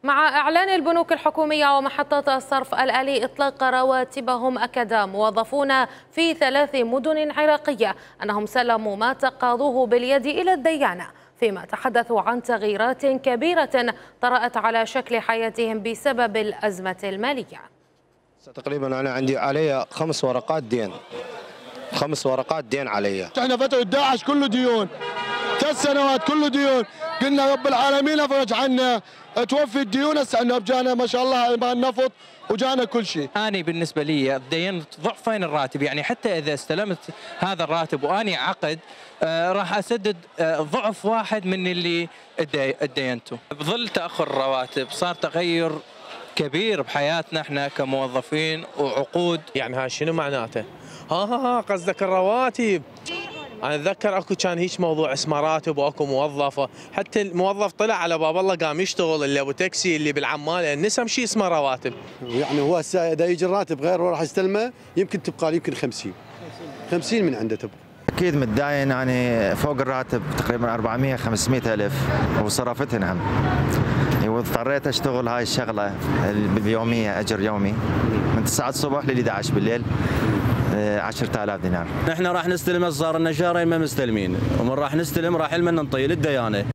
مع إعلان البنوك الحكومية ومحطات الصرف الآلي إطلاق رواتبهم، أكد موظفون في 3 مدن عراقية أنهم سلموا ما تقاضوه باليد إلى الديانة، فيما تحدثوا عن تغييرات كبيرة طرأت على شكل حياتهم بسبب الأزمة المالية. تقريبا أنا عندي علي 5 ورقات دين، 5 ورقات دين علي. احنا فترة داعش كله ديون، 3 سنوات كله ديون، قلنا رب العالمين افرج عنا، توفي الديون. هسه عندنا جانا ما شاء الله مع النفط وجانا كل شيء. أنا بالنسبة لي تدينت ضعفين الراتب، يعني حتى إذا استلمت هذا الراتب وأني عقد راح أسدد ضعف واحد من اللي ادينته. بظل تأخر الرواتب صار تغير كبير بحياتنا احنا كموظفين وعقود. يعني ها شنو معناته؟ قصدك الرواتب. انا اتذكر اكو كان هيك موضوع اسمه راتب واكو موظفه، حتى الموظف طلع على باب الله قام يشتغل، اللي ابو تاكسي اللي بالعماله نسم شيء اسمه رواتب. يعني هو هسه اذا يجي الراتب غير وراح يستلمه يمكن تبقى له يمكن 50 من عنده تبقى. اكيد متداين يعني فوق الراتب تقريبا 400 500 الف وصرفتهن هم. واضطريت اشتغل هاي الشغله باليوميه، اجر يومي من 9 الصبح ل 11 بالليل، 10,000 دينار. نحن راح نستلم، صار لنا شهرين ما مستلمين، ومن راح نستلم راح لنا ننطي للديانه،